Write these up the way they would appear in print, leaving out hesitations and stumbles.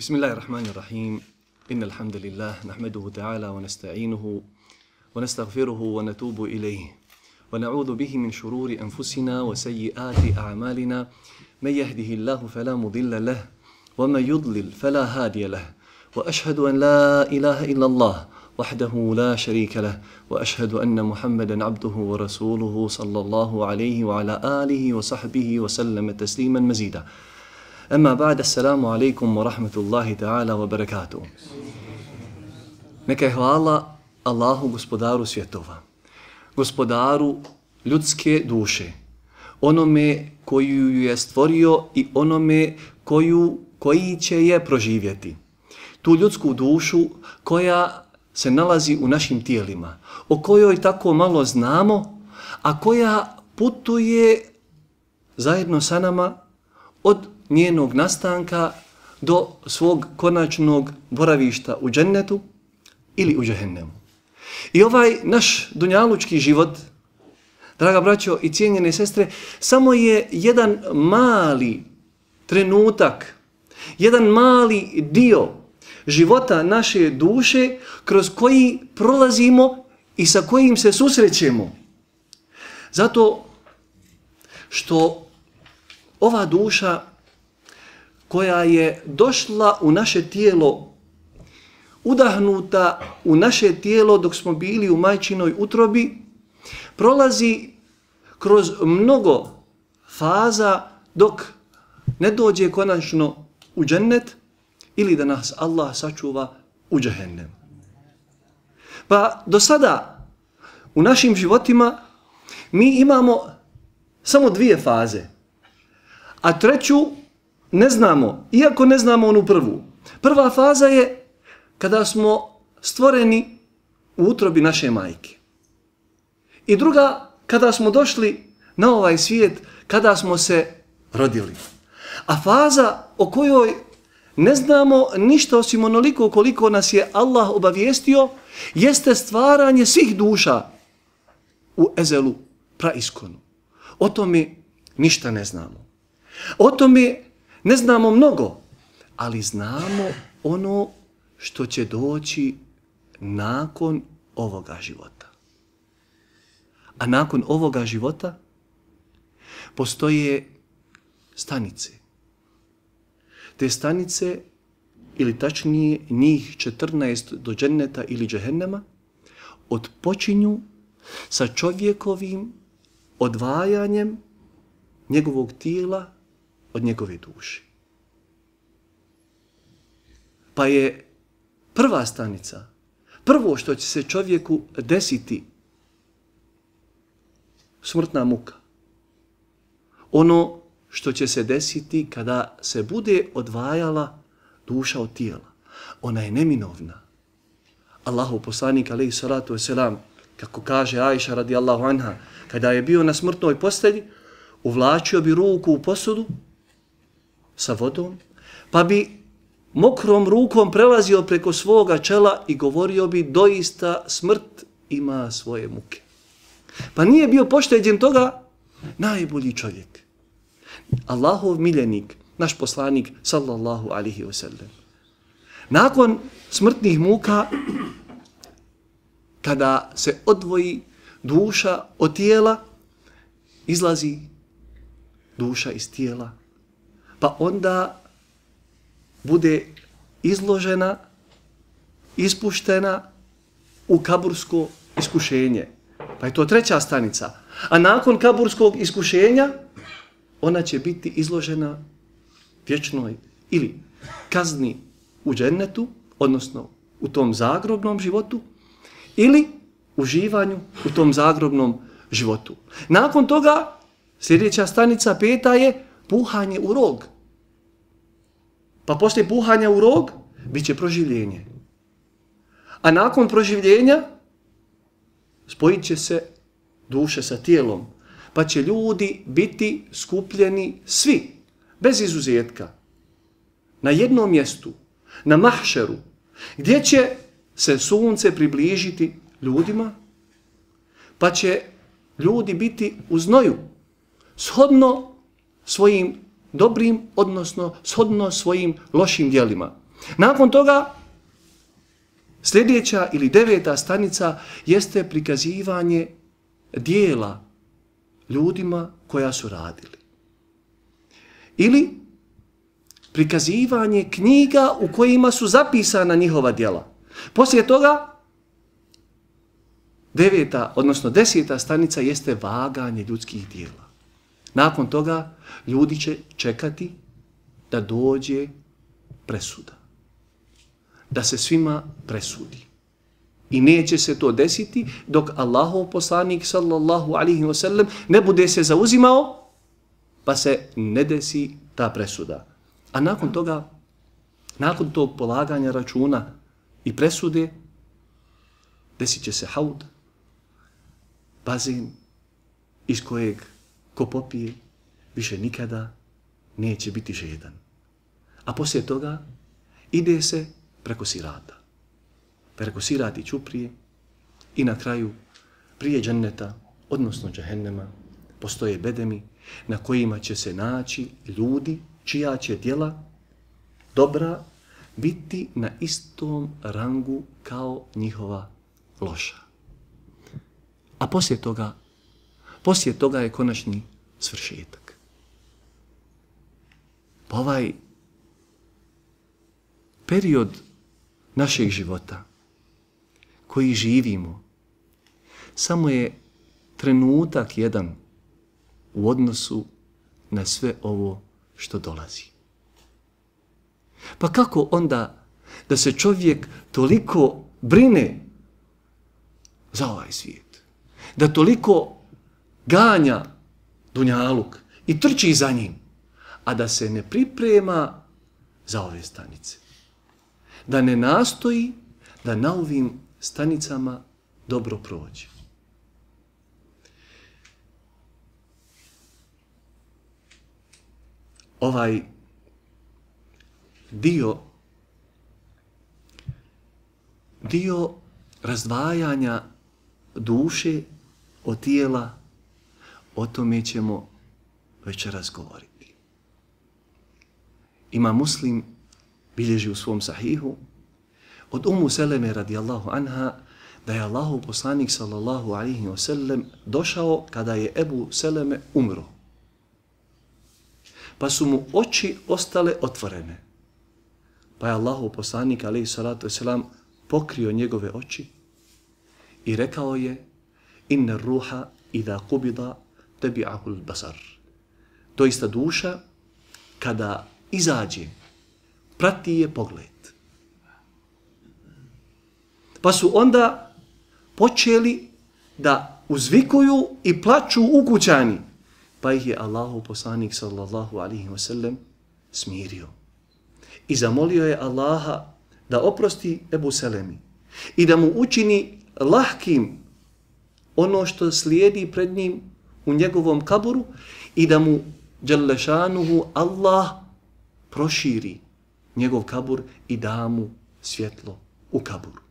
بسم الله الرحمن الرحيم إن الحمد لله نحمده تعالى ونستعينه ونستغفره ونتوب إليه ونعوذ به من شرور أنفسنا وسيئات أعمالنا من يهده الله فلا مضل له ومن يضلل فلا هادي له وأشهد أن لا إله إلا الله وحده لا شريك له وأشهد أن محمدا عبده ورسوله صلى الله عليه وعلى آله وصحبه وسلم تسليما مزيدا أما بعد السلام عليكم ورحمة الله تعالى وبركاته. Neka je hvala Allahu, gospodaru svjetova, gospodaru ljudske duše, onome koji ju je stvorio i onome koji će je proživjeti. Tu ljudsku dušu koja se nalazi u našim tijelima, o kojoj tako malo znamo, a koja putuje zajedno sa nama od njenog nastanka do svog konačnog boravišta u džennetu ili u džehennemu. I ovaj naš dunjalučki život, draga braćo i cijenjene sestre, samo je jedan mali trenutak, jedan mali dio života naše duše kroz koji prolazimo i sa kojim se susrećemo. Zato što ova duša koja je došla u naše tijelo, udahnuta u naše tijelo dok smo bili u majčinoj utrobi, prolazi kroz mnogo faza dok ne dođe konačno u džennet ili da nas Allah sačuva u džehennem. Pa do sada u našim životima mi imamo samo dvije faze, a treću ne znamo, iako ne znamo onu prvu. Prva faza je kada smo stvoreni u utrobi naše majke. I druga, kada smo došli na ovaj svijet, kada smo se rodili. A faza o kojoj ne znamo ništa osim onoliko koliko nas je Allah obavijestio, jeste stvaranje svih duša u ezelu praiskonu. O tome ništa ne znamo. O tome ne znamo mnogo, ali znamo ono što će doći nakon ovoga života. A nakon ovoga života postoje stanice. Te stanice, ili tačnije njih 14 do dženneta ili džehennema, odpočinju sa čovjekovim odvajanjem njegovog tijela od njegove duše. Pa je prva stanica, prvo što će se čovjeku desiti, smrtna muka. Ono što će se desiti kada se bude odvajala duša od tijela. Ona je neminovna. Allahov poslanik alejhi salatu vesselam, kako kaže Ajša radijallahu anha, kada je bio na smrtnoj postelji, uvlačio bi ruku u posudu sa vodom, pa bi mokrom rukom prelazio preko svoga čela i govorio bi: doista smrt ima svoje muke. Pa nije bio pošteđen toga najbolji čovjek, Allahov miljenik, naš poslanik sallallahu alaihi wasallam. Nakon smrtnih muka, kada se odvoji duša od tijela, izlazi duša iz tijela, pa onda bude izložena, ispuštena u kabursko iskušenje. Pa je to treća stanica. A nakon kaburskog iskušenja ona će biti izložena vječnoj ili kazni u džennetu, odnosno u tom zagrobnom životu, ili uživanju u tom zagrobnom životu. Nakon toga sljedeća stanica, peta, je puhanje u rog. Pa poslije puhanja u rog bit će proživljenje. A nakon proživljenja spojit će se duše sa tijelom, pa će ljudi biti skupljeni svi, bez izuzetka, na jednom mjestu, na mahšeru, gdje će se sunce približiti ljudima, pa će ljudi biti u znoju, shodno svojim dobrim, odnosno shodno svojim lošim djelima. Nakon toga, sljedeća ili 9. stanica jeste prikazivanje dijela ljudima koja su radili. Ili prikazivanje knjiga u kojima su zapisana njihova djela. Poslije toga, 9. odnosno 10. stanica jeste vaganje ljudskih djela. Nakon toga, ljudi će čekati da dođe presuda. Da se svima presudi. I neće se to desiti dok Allahov poslanik sallallahu alaihi wa sallam ne bude se zauzimao pa se ne desi ta presuda. A nakon toga, nakon tog polaganja računa i presude, desit će se haud, bazen iz kojeg ko popije više nikada neće biti žedan. A poslije toga ide se preko sirata. Preko sirati ćuprije i na kraju prije dženneta, odnosno džehennema, postoje bedemi na kojima će se naći ljudi čija će djela dobra biti na istom rangu kao njihova loša. A poslije toga je konačni svršetak. Pa ovaj period našeg života koji živimo samo je trenutak jedan u odnosu na sve ovo što dolazi. Pa kako onda da se čovjek toliko brine za ovaj svijet, da toliko ganja dunjaluk i trči za njim, a da se ne priprema za ove stanice, da ne nastoji da na ovim stanicama dobro prođe. Ovaj dio razdvajanja duše od tijela, o tome ćemo večeras govoriti. Ima Muslim bilježi u svom sahihu od Ummu Seleme radijallahu anha da je Allahov poslanik sallallahu alaihi wa sallam došao kada je Ebu Seleme umro. Pa su mu oči ostale otvorene. Pa je Allahov poslanik alaihi salatu wasalam pokrio njegove oči i rekao je: inna ruha idha qubida tabi'ahu al-basar. Doista duša kada izađe prati je pogled. Pa su onda počeli da uzvikuju i plaču ukućani. Pa ih je Allahov poslanik sallallahu alaihi wa sallam smirio. I zamolio je Allaha da oprosti Ebu Selemi i da mu učini lahkim ono što slijedi pred njim u njegovom kaburu i da mu dželešanuhu Allah proširi njegov kabur i da mu svjetlo u kaburu.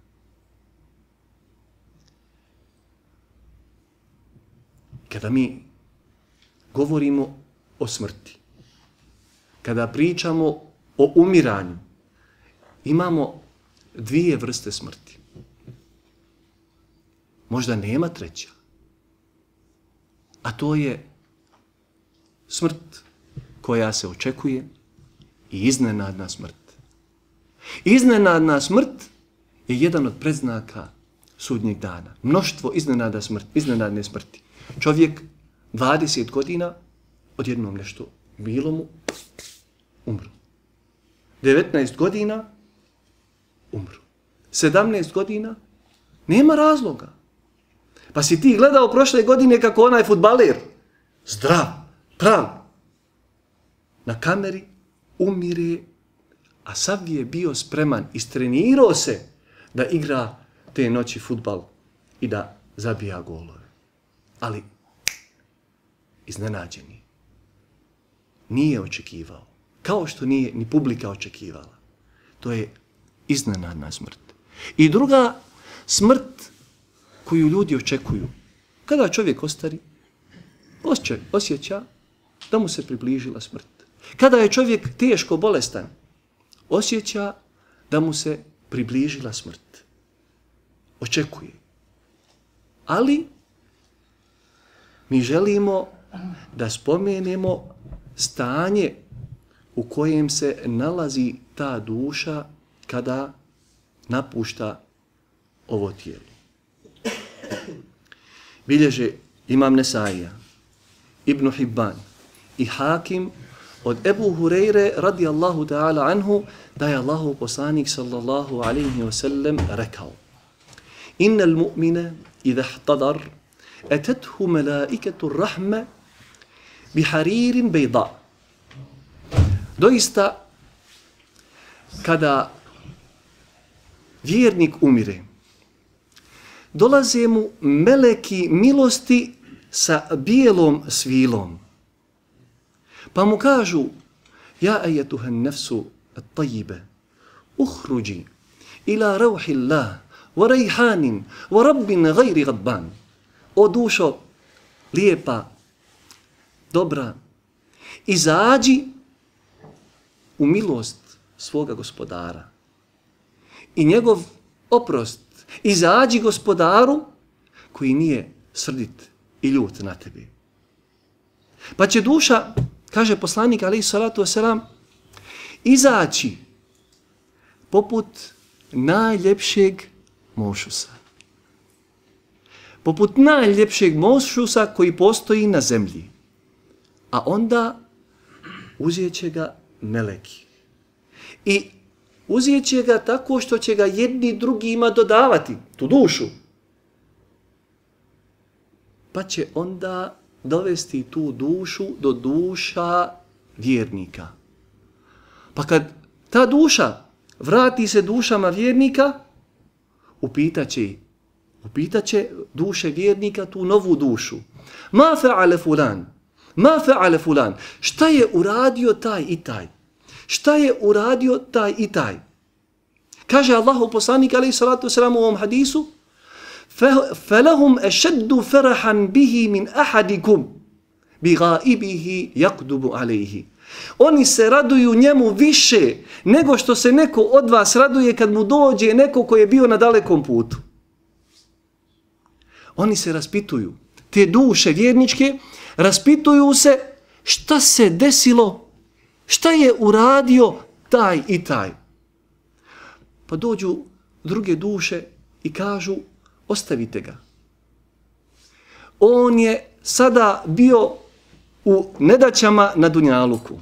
Kada mi govorimo o smrti, kada pričamo o umiranju, imamo dvije vrste smrti. Možda nema treća. A to je smrt koja se očekuje i iznenadna smrt. Iznenadna smrt je jedan od predznaka sudnjeg dana. Mnoštvo iznenadne smrti. Čovjek 20 godina odjednom nešto bilo mu, umru. 19 godina umru. 17 godina nema razloga. Pa si ti gledao prošle godine kako onaj fudbaler, zdrav, prav, na kameri umire, a sav je bio spreman, istrenirao se da igra te noći fudbal i da zabija golove. Ali iznenađeni. Nije očekivao. Kao što nije ni publika očekivala. To je iznenadna smrt. I druga smrt koju ljudi očekuju. Kada čovjek ostari, osjeća da mu se približila smrt. Kada je čovjek teško bolestan, osjeća da mu se približila smrt. Očekuje. Ali mi želimo da spomenemo stanje u kojem se nalazi ta duša kada napušta ovo tijelo. Bilježe Imam Nesaija, Ibn Hibban i Hakim od Ebu Hureyre radijallahu ta'ala anhu da je Allahov poslanik sallallahu alaihi wa sallam rekao: Innal mu'mina idha ihtadar atathu malaikatu rahme biharirin bejda. Doista, kada vjernik umire, dolaze mu meleki milosti sa bijelom svilom. Pa mu kažu: Ja ajetuhan nefsu at-tajibe, uhruđi ila rauhillah, wa rejhanin, wa rabbin gajri gadban. O dušo, lijepa, dobra, izađi u milost svoga gospodara i njegov oprost. Izađi gospodaru koji nije srdit i ljut na tebi. Pa će duša, kaže poslanik alejhi salatu vesselam, izaći poput najljepšeg mošusa. Poput najljepšeg mošusa koji postoji na zemlji. A onda uzet će ga meleki. I uzet će ga tako što će ga jedni drugima dodavati, tu dušu. Pa će onda dovesti tu dušu do duša vjernika. Pa kad ta duša vrati se dušama vjernika, upitat će duše vjernika tu novu dušu. Ma fa'ale fulan? Ma fa'ale fulan? Šta je uradio taj i taj? Šta je uradio taj i taj? Kaže Allahov poslanik alejhi salatu vesselam u ovom hadisu: فَلَهُمْ أَشَدُّ فَرَحًا بِهِ مِنْ أَحَدِكُمْ بِغَائِبِهِ يَقْدُبُ عَلَيْهِ. Oni se raduju njemu više nego što se neko od vas raduje kad mu dođe neko koji je bio na dalekom putu. Oni se raspituju, te duše vjerničke, raspituju se šta se desilo, šta je uradio taj i taj. Pa dođu druge duše i kažu: ostavite ga. On je sada bio u nedaćama na dunjaluku.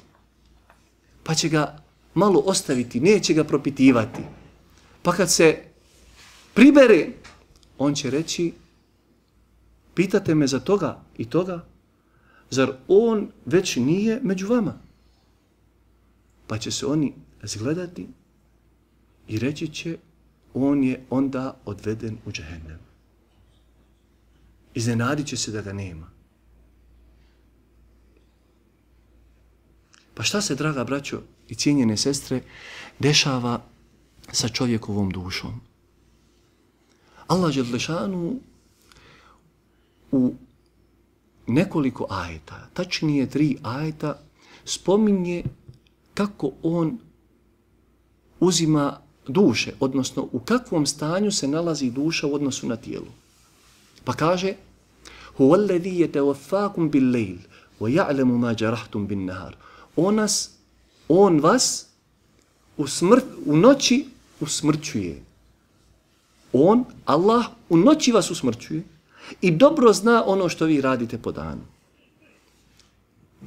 Pa će ga malo ostaviti, neće ga propitivati. Pa kad se pribere, on će reći: pitate me za toga i toga, zar on već nije među vama? Pa će se oni zgledati i reći će: on je onda odveden u džehennem. Iznenadit će se da ga nema. Pa šta se, draga braćo i cijenjene sestre, dešava sa čovjekovom dušom? Allah dželešanu u nekoliko ajeta, tačnije 3 ajeta, spominje kako on uzima duše, odnosno u kakvom stanju se nalazi duša u odnosu na tijelo. Pa kaže: Huwa alladhi yatawaffakum bil-layl wa ya'lamu ma jarahtum bin-nahar. On vas u noći usmrćuje. On, Allah, u noći vas usmrćuje i dobro zna ono što vi radite po danu.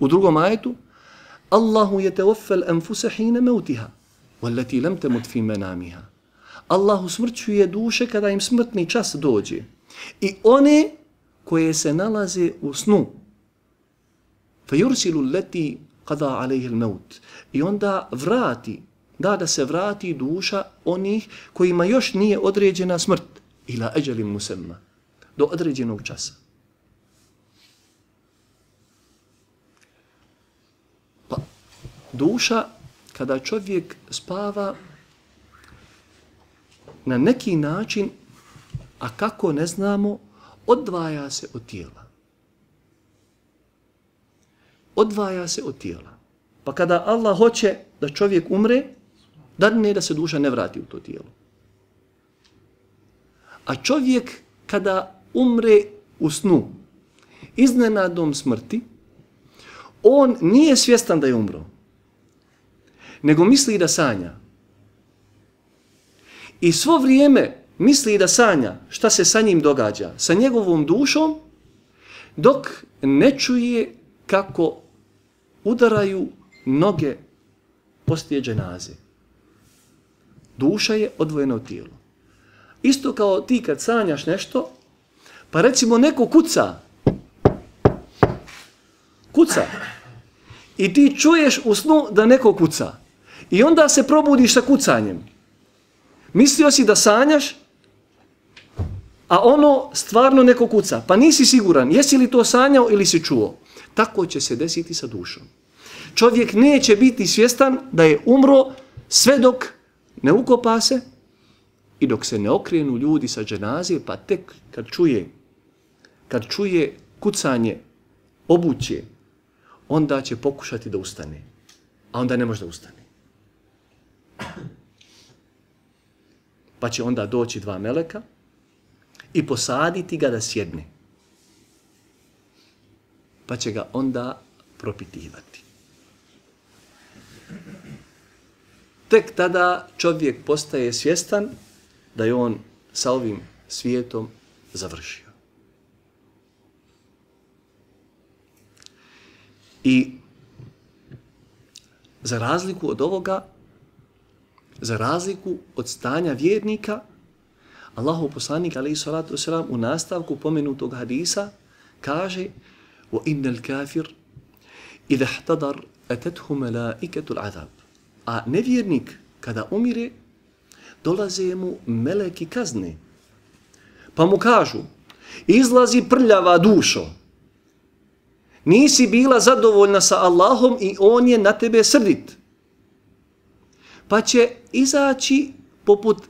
U drugom ajetu: Allahu yatawaffa al-anfusa hina mawtiha wallati lam tamut fi manamiha. Allah usmrćuje duše kada im smrtni čas dođe i one koje se nalaze u snu. Fayursilu allati qada alayhi al-maut. I onda da se vrati duša onih kojima još nije određena smrt, ila ajalin musamma, do određenog časa. Pa duša, kada čovjek spava, na neki način, a kako ne znamo, odvaja se od tijela. Odvaja se od tijela. Pa kada Allah hoće da čovjek umre, dadne da se duša ne vrati u to tijelo. A čovjek kada umre u snu, iznenadom smrti, on nije svjestan da je umro, nego misli da sanja. I svo vrijeme misli da sanja šta se sa njim događa, sa njegovom dušom, dok ne čuje kako udaraju noge poslije dženaze. Duša je odvojena od tijela. Isto kao ti kad sanjaš nešto, pa recimo neko kuca. I ti čuješ u snu da neko kuca. I onda se probudiš sa kucanjem. Mislio si da sanjaš, a ono stvarno neko kuca. Pa nisi siguran, jesi li to sanjao ili si čuo. Tako će se desiti sa dušom. Čovjek neće biti svjestan da je umro sve dok ne ukopa se i dok se ne okrenu ljudi sa dženaze, pa tek kad čuje kucanje obuće, onda će pokušati da ustane. A onda ne može da ustane. Pa će onda doći 2 meleka i posaditi ga da sjedne. Pa će ga onda propitivati. Tek tada čovjek postaje svjestan da je on sa ovim svijetom završio. I za razliku od ovoga, za razliku od stanja vjernika, Allahov poslanik alejhi salatu vesselam u nastavku pomenutog hadisa kaže: "Wa innal kafir idha ihtadar atathu malaikatul azab." A nevjernik kada umire, dolaze mu meleki kazne. Pa mu kažu: "Izlazi prljava dušo. Nisi bila zadovoljna sa Allahom i on je na tebe srdit." Pa će izaći poput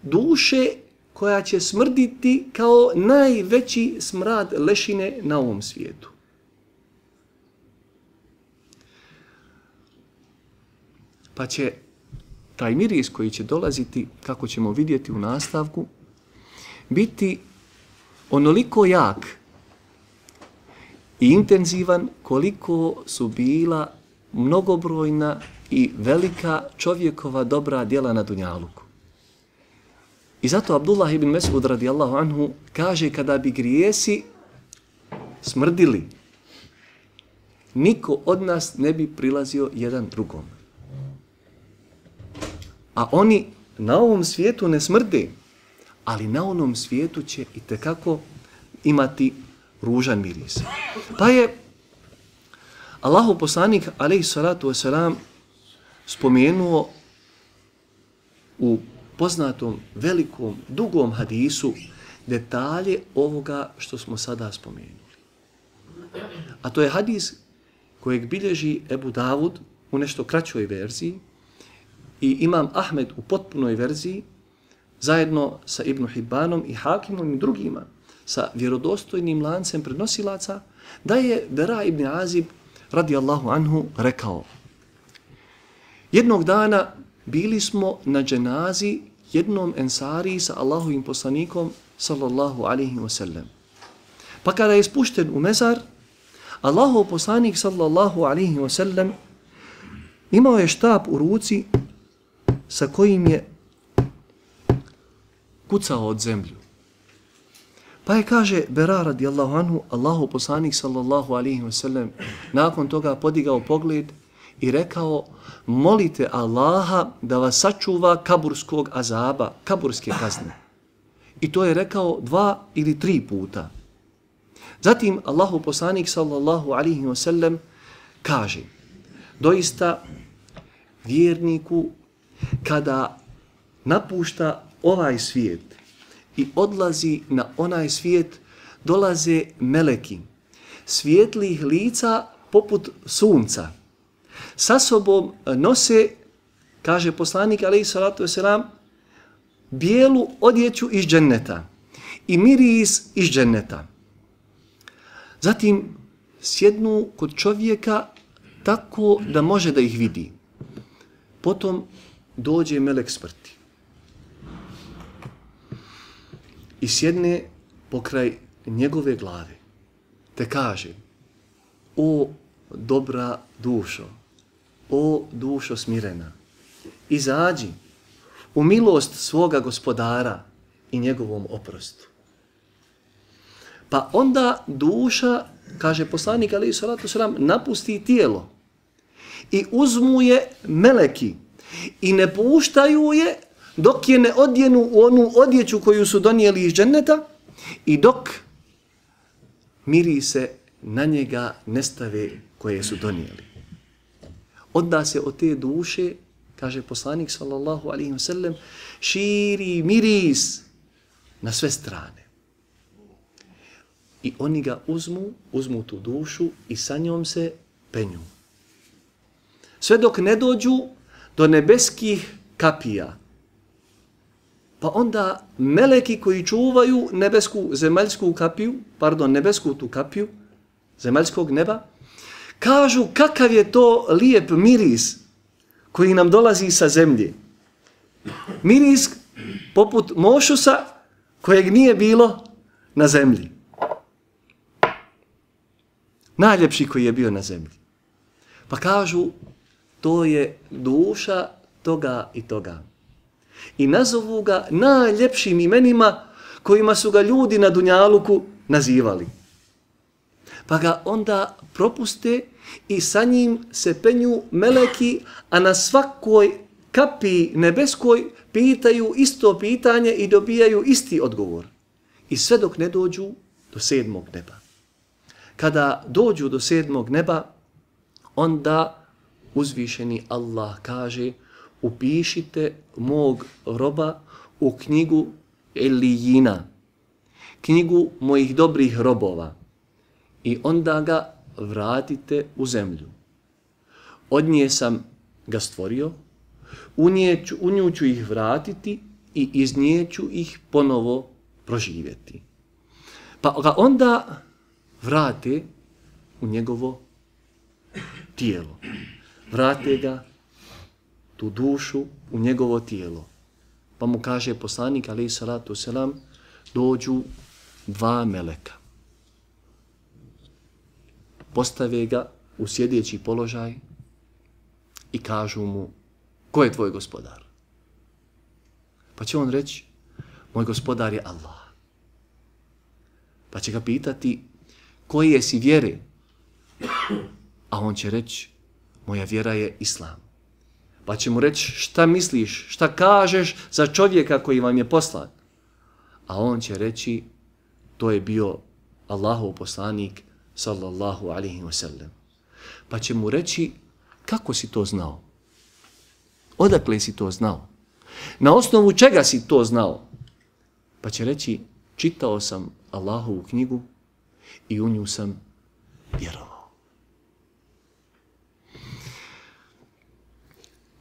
duše koja će smrditi kao najveći smrad lešine na ovom svijetu. Pa će taj miris koji će dolaziti, kako ćemo vidjeti u nastavku, biti onoliko jak i intenzivan koliko su bila mnogobrojna i velika čovjekova dobra djela na dunjaluku. I zato Abdullah ibn Mes'ud radijallahu anhu kaže kada bi grijesi smrdili, niko od nas ne bi prilazio jedan drugom. A oni na ovom svijetu ne smrde, ali na onom svijetu će itekako imati ružan miris. Pa je Allahov poslanik alejhi salatu vesselam spomenuo u poznatom, velikom, dugom hadisu detalje ovoga što smo sada spomenuli. A to je hadis kojeg bilježi Ebu Davud u nešto kraćoj verziji i Imam Ahmed u potpunoj verziji, zajedno sa Ibn Hibbanom i Hakimom i drugima, sa vjerodostojnim lancem prenosilaca, da je Bera ibn Azib radijallahu anhu rekao: "Jednog dana bili smo na dženazi jednom ensariji sa Allahovim poslanikom sallallahu alaihi wa sallam. Pa kada je spušten u mezar, Allahov poslanik sallallahu alaihi wa sallam imao je štap u ruci sa kojim je kucao od zemlju. Pa je, kaže Bera radijallahu anhu, Allahov poslanik sallallahu alaihi wa sallam nakon toga podigao pogled i rekao: "Molite Allaha da vas sačuva kaburskog azaba, kaburske kazne." I to je rekao 2 ili 3 puta. Zatim Allahov poslanik sallallahu alaihi wa sallam kaže: "Doista vjerniku kada napušta ovaj svijet i odlazi na onaj svijet, dolaze meleki, svijetlih lica poput sunca. Sa sobom nose, kaže poslanik alejhi salatu vesselam, bijelu odjeću iz dženneta i miris iz dženneta. Zatim sjednu kod čovjeka tako da može da ih vidi. Potom dođe melek smrti i sjedne pokraj njegove glave, te kaže: o dobra dušo, o dušo smirena, izađi u milost svoga gospodara i njegovom oprostu. Pa onda duša, kaže poslanik alejhi salatu selam, napusti tijelo i uzmu je meleki i ne puštaju je dok je ne odjenu u onu odjeću koju su donijeli iz dženneta i dok mirise na njega ne stave koje su donijeli. Onda se od te duše, kaže poslanik sallallahu alejhi ve sellem, širi miris na sve strane. I oni ga uzmu tu dušu i sa njom se penju. Sve dok ne dođu do nebeskih kapija. Pa onda meleki koji čuvaju nebesku tu kapiju, zemaljskog neba, kažu kakav je to lijep miris koji nam dolazi sa zemlje. Miris poput mošusa kojeg nije bilo na zemlji. Najljepši koji je bio na zemlji. Pa kažu, to je duša toga i toga. I nazovu ga najljepšim imenima kojima su ga ljudi na dunjaluku nazivali. Pa ga onda propuste i sa njim se penju meleki, a na svakoj kapi nebeskoj pitaju isto pitanje i dobijaju isti odgovor. I sve dok ne dođu do 7. neba. Kada dođu do 7. neba, onda uzvišeni Allah kaže: upišite mog roba u knjigu Elijina, knjigu mojih dobrih robova, i onda ga vratite u zemlju. Od nje sam ga stvorio, u nju ću ih vratiti i iz nje ću ih ponovo proživjeti. Pa ga onda vrate u njegovo tijelo. Vrate ga, tu dušu, u njegovo tijelo. Pa mu kaže poslanik alejhi salatu selam, dođu 2 meleka. Postave ga u sjedeći položaj i kažu mu: ko je tvoj gospodar? Pa će on reći: moj gospodar je Allah. Pa će ga pitati: koje si vjere? A on će reći: moja vjera je Islam. Pa će mu reći: šta misliš, šta kažeš za čovjeka koji vam je poslan? A on će reći: to je bio Allahov poslanik sallallahu alejhi ve sellem. Pa će mu reći: kako si to znao? Odakle si to znao? Na osnovu čega si to znao? Pa će reći: čitao sam Allahovu knjigu i u nju sam vjerovao.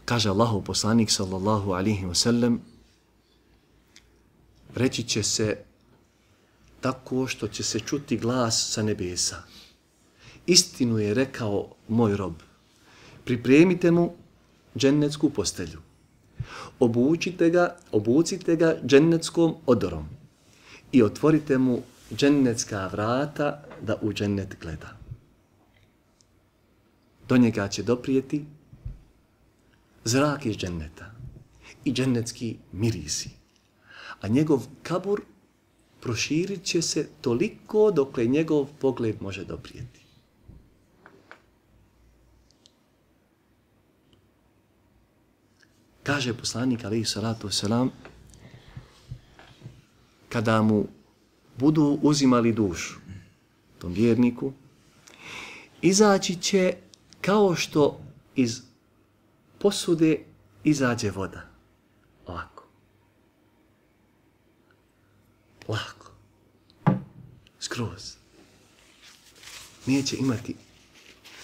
Kaže Allahov poslanik sallallahu alejhi ve sellem, reći će se tako što će se čuti glas sa nebesa: istinu je rekao moj rob, pripremite mu džennetsku postelju, obucite ga džennetskom odorom i otvorite mu džennetska vrata da u džennet gleda. Do njega će doprijeti zrak iz dženneta i džennetski mirisi, a njegov kabur proširit će se toliko dokle njegov pogled može doprijeti. Kaže poslanik alejhi salatu selam, kada mu budu uzimali dušu, tom vjerniku, izaći će kao što iz posude izađe voda. Ovako. Lako. Skroz. Neće imati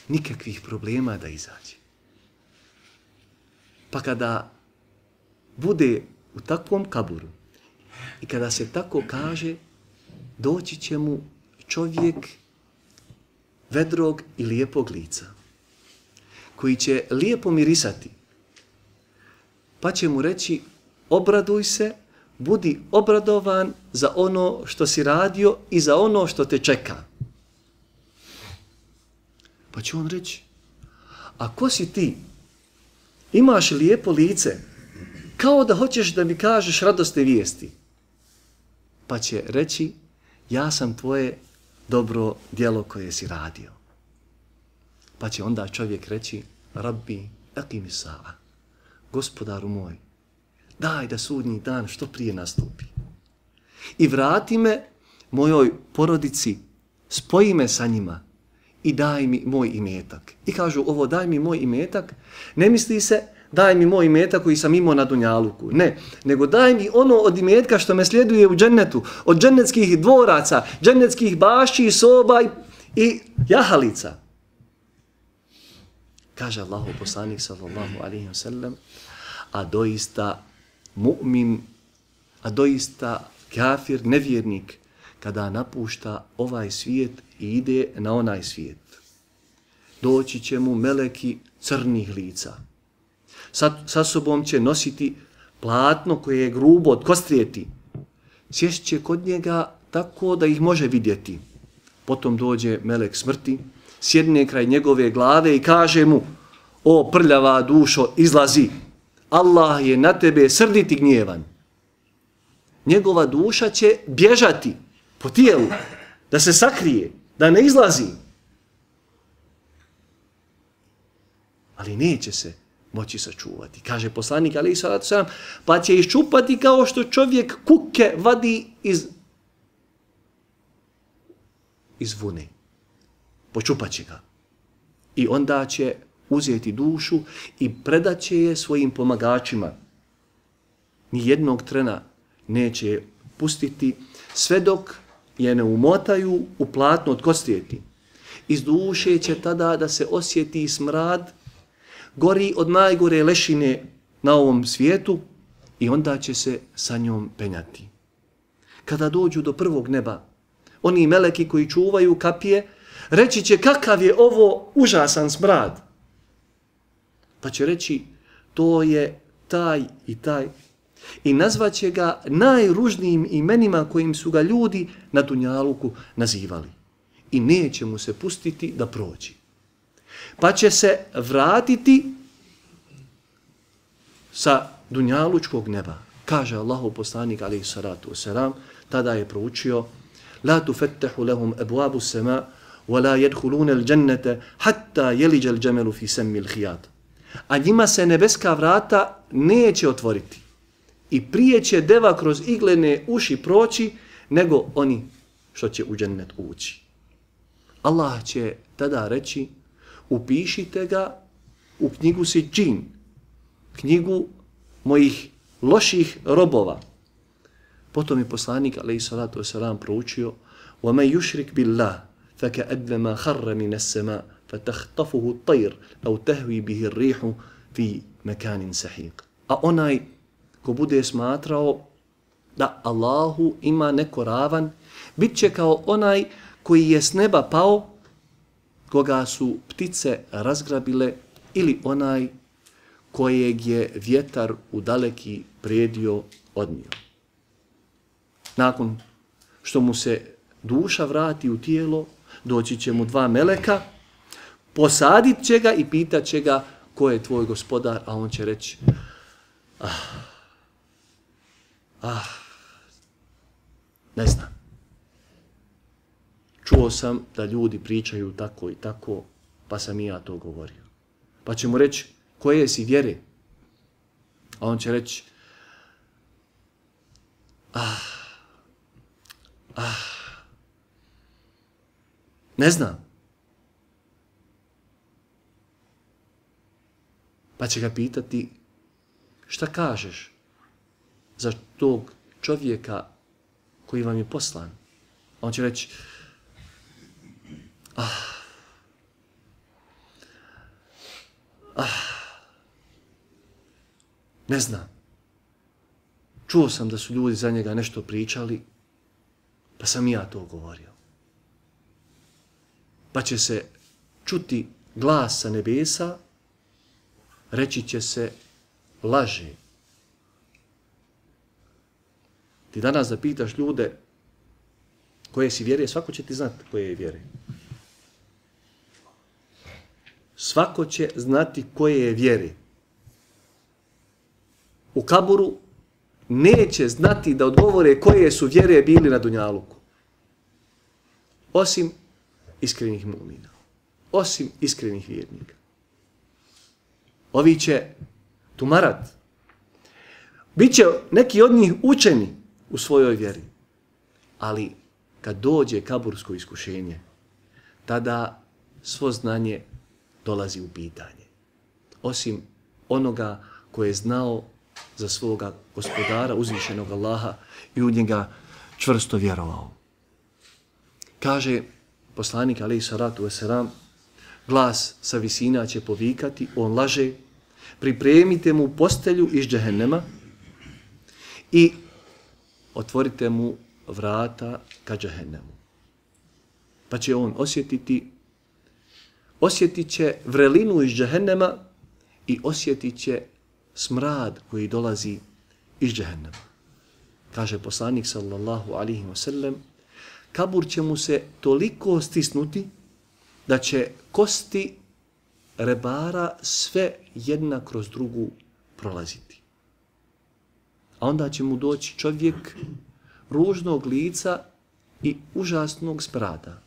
nikakvih problema da izađe. Pa kada bude u takvom kaburu i kada se tako kaže, doći će mu čovjek vedrog i lijepog lica, koji će lijepo mirisati, pa će mu reći obraduj se, budi obradovan za ono što si radio i za ono što te čeka. Pa će on reći, a ko si ti? Imaš lijepo lice, kao da hoćeš da mi kažeš radosne vijesti. Pa će reći, ja sam tvoje dobro djelo koje si radio. Pa će onda čovjek reći, Rabbi, aqimi sa'a, gospodaru moj, daj da sudnji dan što prije nastupi. I vrati me mojoj porodici, spoji me sa njima i daj mi moj imetak. I kažu ovo daj mi moj imetak, ne misli se daj mi moj imetak koji sam imao na dunjaluku. Ne, nego daj mi ono od imetka što me sljeduje u džennetu, od džennetskih dvoraca, džennetskih bašći, soba i jahalica. Kaže Allahu poslanik sallallahu alejhi ve sellem, a doista mu'min, a doista kafir, nevjernik, kada napušta ovaj svijet i ide na onaj svijet. Doći će mu meleki crnih lica. Sa sobom će nositi platno koje je grubo od kostrijeti. Sjest će kod njega tako da ih može vidjeti. Potom dođe melek smrti, sjedne kraj njegove glave i kaže mu, o prljava dušo, izlazi. Allah je na tebe srdit i gnjevan. Njegova duša će bježati po tijelu, da se sakrije, da ne izlazi. Ali neće se moći sačuvati. Kaže poslanik, alejhi salatu selam, pa će iščupati kao što čovjek kuke vadi iz vune. Počupat će ga. I onda će uzeti dušu i predat će je svojim pomagačima. Nijednog trena neće je pustiti sve dok je ne umotaju u platno od kostrijeti. Iz duše će tada da se osjeti smrad, gori od najgore lešine na ovom svijetu i onda će se sa njom penjati. Kada dođu do prvog neba, oni meleki koji čuvaju kapije, reći će kakav je ovo užasan smrad. Pa će reći to je taj i taj i nazvaće ga najružnijim imenima kojim su ga ljudi na dunjaluku nazivali. I neće mu se pustiti da prođi. Pa će se vratiti sa dunjalučkog neba. Kaže Allahu poslanik alejhi salatu vesselam, tada je proučio la tufattahu lahum abwabu as-sama wa la yadkhuluna al-jannata hatta yalija al-jamalu fi sammi al-khiyat. A njima se nebeska vrata neće otvoriti. I prije će deva kroz iglene uši proći nego oni što će u džennet ući. Allah će tada reći, upišite ga u knjigu Sidžin, knjigu mojih loših robova. Potom je poslanik alejhi salatu vesselam proučio وَمَنْ يُشْرِكْ بِاللَّهِ فَكَأَنَّمَا خَرَّ مِنَ السَّمَاءِ فَتَخْطَفُهُ الطَّيْرُ أَوْ تَهْوِي بِهِ الرِّيحُ فِي مَكَانٍ سَحِيقٍ. A onaj ko bude smatrao da Allahu ima neko ravan, bit će kao onaj koji je s neba pao, koga su ptice razgrabile, ili onaj kojeg je vjetar u daleki predio odnio. Nakon što mu se duša vrati u tijelo, doći će mu dva meleka, posadit će ga i pitat će ga ko je tvoj gospodar, a on će reći ne znam. Čuo sam da ljudi pričaju tako i tako, pa sam i ja to govorio. Pa će mu reći, koje si vjere? A on će reći, ne znam. Pa će ga pitati, šta kažeš za tog čovjeka koji vam je poslan? A on će reći, ne znam. Čuo sam da su ljudi za njega nešto pričali, pa sam i ja to govorio. Pa će se čuti glas sa nebesa, reći će se, laže, Ti danas da pitaš ljude koje si vjere, svako će ti znati koje je vjere. Svako će znati koje je vjere. U kaburu neće znati da odgovore koje su vjere bili na dunjaluku. Osim iskrenih mu'mina. Osim iskrenih vjernika. Ovi će tumarat. Biće neki od njih učeni u svojoj vjeri. Ali kad dođe kabursko iskušenje, tada svo znanje dolazi u pitanje. Osim onoga koje je znao za svoga gospodara, uzvišenog Allaha i u njega čvrsto vjerovao. Kaže poslanik alejhi salatu vesselam, glas sa visina će povikati, on laže, pripremite mu postelju iz džehennema i otvorite mu vrata ka džehennemu. Pa će on osjetit će vrelinu iz džehennema i osjetit će smrad koji dolazi iz džehennema. Kaže poslanik sallallahu alaihi wa sallam, kabur će mu se toliko stisnuti da će kosti rebara sve jedna kroz drugu prolaziti. A onda će mu doći čovjek ružnog lica i užasnog smrada.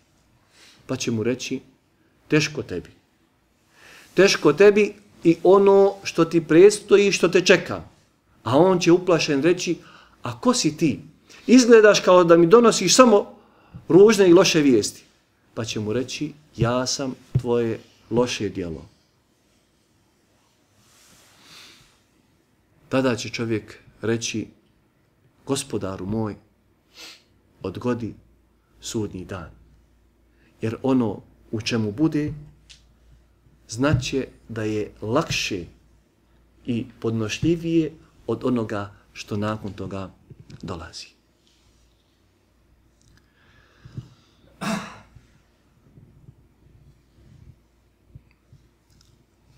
Pa će mu reći, teško tebi. Teško tebi i ono što ti predstoji, što te čeka. A on će uplašen reći, a ko si ti? Izgledaš kao da mi donosiš samo ružne i loše vijesti. Pa će mu reći, ja sam tvoje loše djelo. Tada će čovjek reći, gospodaru moj, odgodi sudnji dan. Jer ono u čemu bude, znaće da je lakše i podnošljivije od onoga što nakon toga dolazi.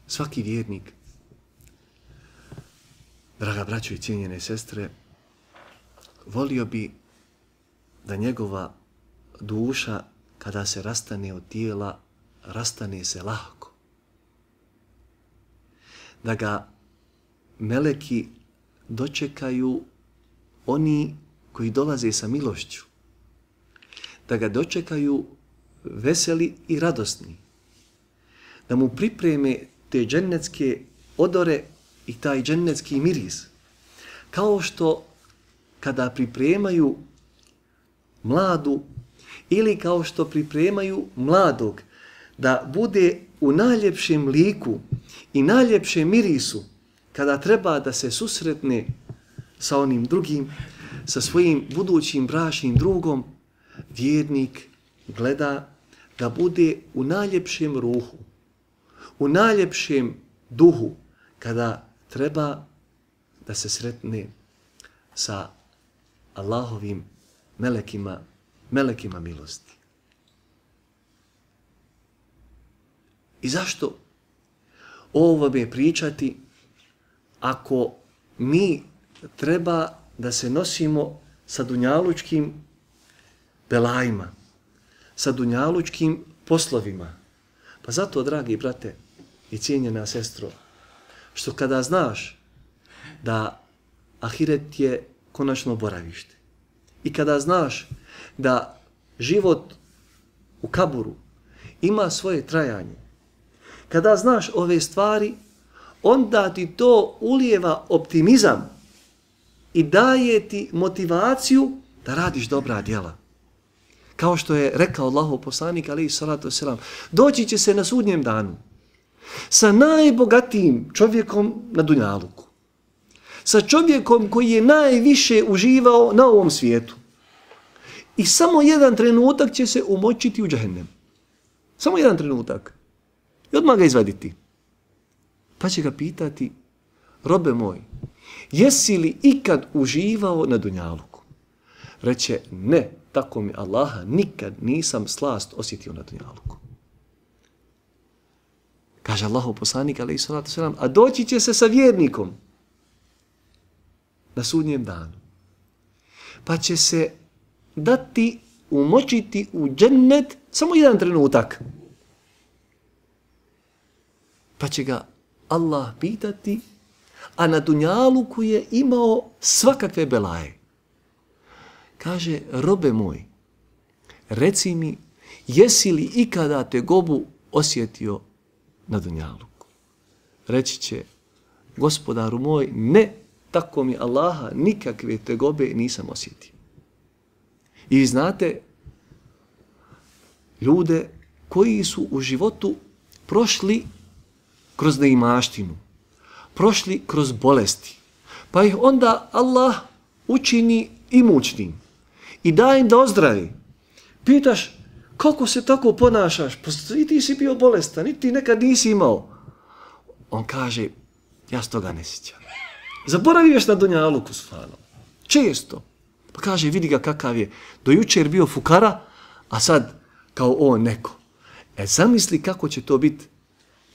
Svaki vjernik, draga braćo i cijenjene sestre, volio bi da njegova duša kada se rastane od tijela, rastane se lahko. Da ga meleki dočekaju oni koji dolaze sa milošću. Da ga dočekaju veseli i radosni. Da mu pripreme te džennetske odore i taj džennetski miris. Kao što kada pripremaju mladu ili kao što pripremaju mladog da bude u najljepšem liku i najljepšem mirisu kada treba da se susretne sa onim drugim, sa svojim budućim bračnim drugom, vjernik gleda da bude u najljepšem ruhu, u najljepšem duhu kada treba da se sretne sa Allahovim melekima milosti. I zašto ovo je pričati ako mi treba da se nosimo sa dunjalučkim belajima, sa dunjalučkim poslovima? Pa zato, dragi brate i cijenjena sestro, što kada znaš da ahiret je konačno boravište i kada znaš da život u kaburu ima svoje trajanje, kada znaš ove stvari, onda ti to ulijeva optimizam i daje ti motivaciju da radiš dobra djela. Kao što je rekao Allahov poslanik alejhi salatu vesselam, doći će se na sudnjem danu sa najbogatijim čovjekom na dunjaluku. Sa čovjekom koji je najviše uživao na ovom svijetu. I samo jedan trenutak će se umočiti u džehennem. Samo jedan trenutak. I odmah ga izvaditi. Pa će ga pitati, robe moj, jesi li ikad uživao na dunjaluku? Reče, ne, tako mi Allaha, nikad nisam slast osjetio na dunjaluku. Kaže Allahov poslanik, alejhi salatu vesselam, a doći će se sa vjernikom na sudnjem danu. pa će se dati, umočiti u džennet samo jedan trenutak. Pa će ga Allah pitati, a na dunjaluku je imao svakakve belaje. Kaže, robe moj, reci mi, jesi li ikada tegobu osjetio na dunjaluku? Reći će, gospodaru moj, ne, tako mi Allaha, nikakve tegobe nisam osjetio. I vi znate ljude koji su u životu prošli kroz neimaštinu, prošli kroz bolesti, pa ih onda Allah učini imućnim i da im da ozdravi. Pitaš, kako se tako ponašaš? Pa i ti si bio bolestan, i ti nekad nisi imao. On kaže, ja s toga ne sjećam. Zaboraviješ na dunjaluku, stvarno. Često. Pa kaže, vidi ga kakav je. Do jučer bio fukara, a sad kao on neko. Zamisli kako će to biti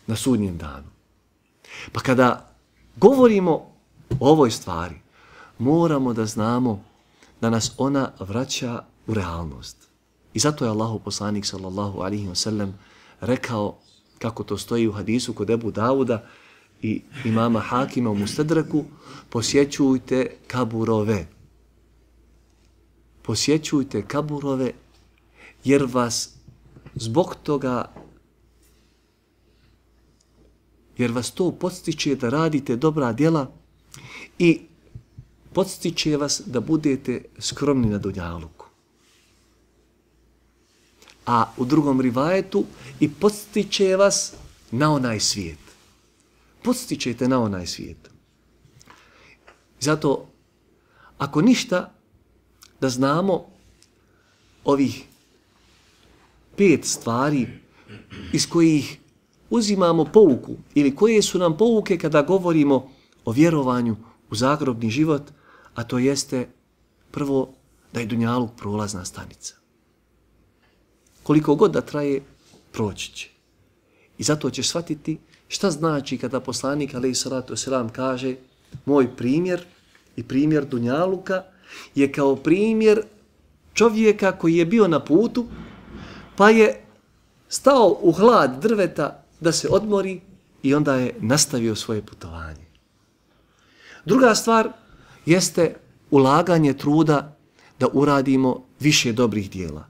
na sudnjem danu. Pa kada govorimo o ovoj stvari, moramo da znamo da nas ona vraća u realnost. I zato je Allahov poslanik sallallahu alejhi ve sellem rekao, kako to stoji u hadisu kod Ebu Dauda i imama Hakima u Mustadraku, posjećujte kaburove. Posjećujte kaburove jer vas zbog toga, jer vas to podstiče da radite dobra djela i podstiče vas da budete skromni na dunjaluku. A u drugom rivajetu i podstiče vas na onaj svijet. Podstičete na onaj svijet. Zato, ako ništa, da znamo ovih 5 stvari iz kojih uzimamo pouku ili koje su nam pouke kada govorimo o vjerovanju u zagrobni život, a to jeste prvo da je dunjaluk prolazna stanica. Koliko god da traje, proći će. I zato ćeš shvatiti šta znači kada poslanik alejhi salatu vesselam kaže moj primjer i primjer dunjaluka je kao primjer čovjeka koji je bio na putu pa je stao u hlad drveta da se odmori i onda je nastavio svoje putovanje. Druga stvar jeste ulaganje truda da uradimo više dobrih dijela.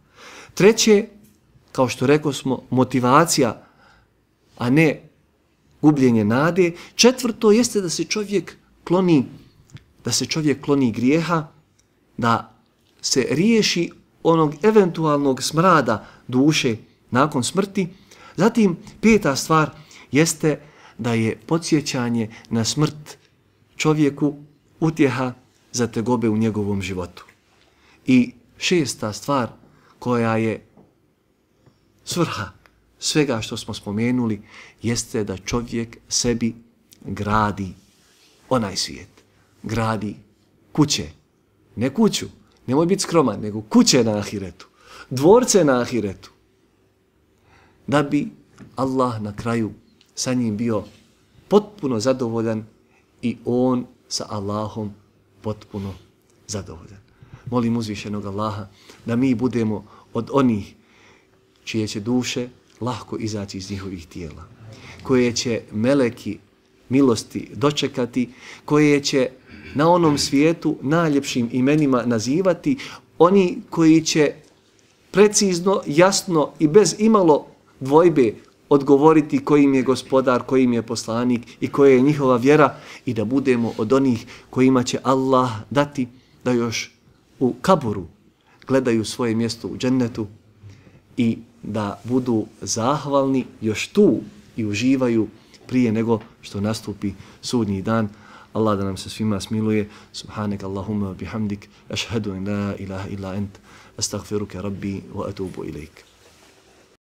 Treće, kao što rekao smo, motivacija, a ne gubljenje nade. Četvrto jeste da se čovjek kloni grijeha, da se riješi onog eventualnog smrada duše nakon smrti. Zatim, 5. stvar jeste da je podsjećanje na smrt čovjeku utjeha za tegobe u njegovom životu. I 6. stvar koja je svrha svega što smo spomenuli jeste da čovjek sebi gradi onaj svijet. Gradi kuće. Ne kuću, nemoj biti skroman, nego kuće na ahiretu. Dvorce na ahiretu. Da bi Allah na kraju sa njim bio potpuno zadovoljan i on sa Allahom potpuno zadovoljan. Molim uzvišenog Allaha da mi budemo od onih čije će duše lahko izaći iz njihovih tijela, koje će meleki milosti dočekati, koje će na onom svijetu najljepšim imenima nazivati, oni koji će precizno, jasno i bez imalo dvojbe odgovoriti kojim je gospodar, kojim je poslanik i koja je njihova vjera i da budemo od onih kojima će Allah dati da još u kaburu gledaju svoje mjesto u džennetu i da budu zahvalni još tu i uživaju prije nego što nastupi sudnji dan. Allah da nam se svima smiluje. Subhanak Allahumma bihamdik, ašhadu in la ilaha illa ent, astaghfiruka rabbi wa atubu ilaik.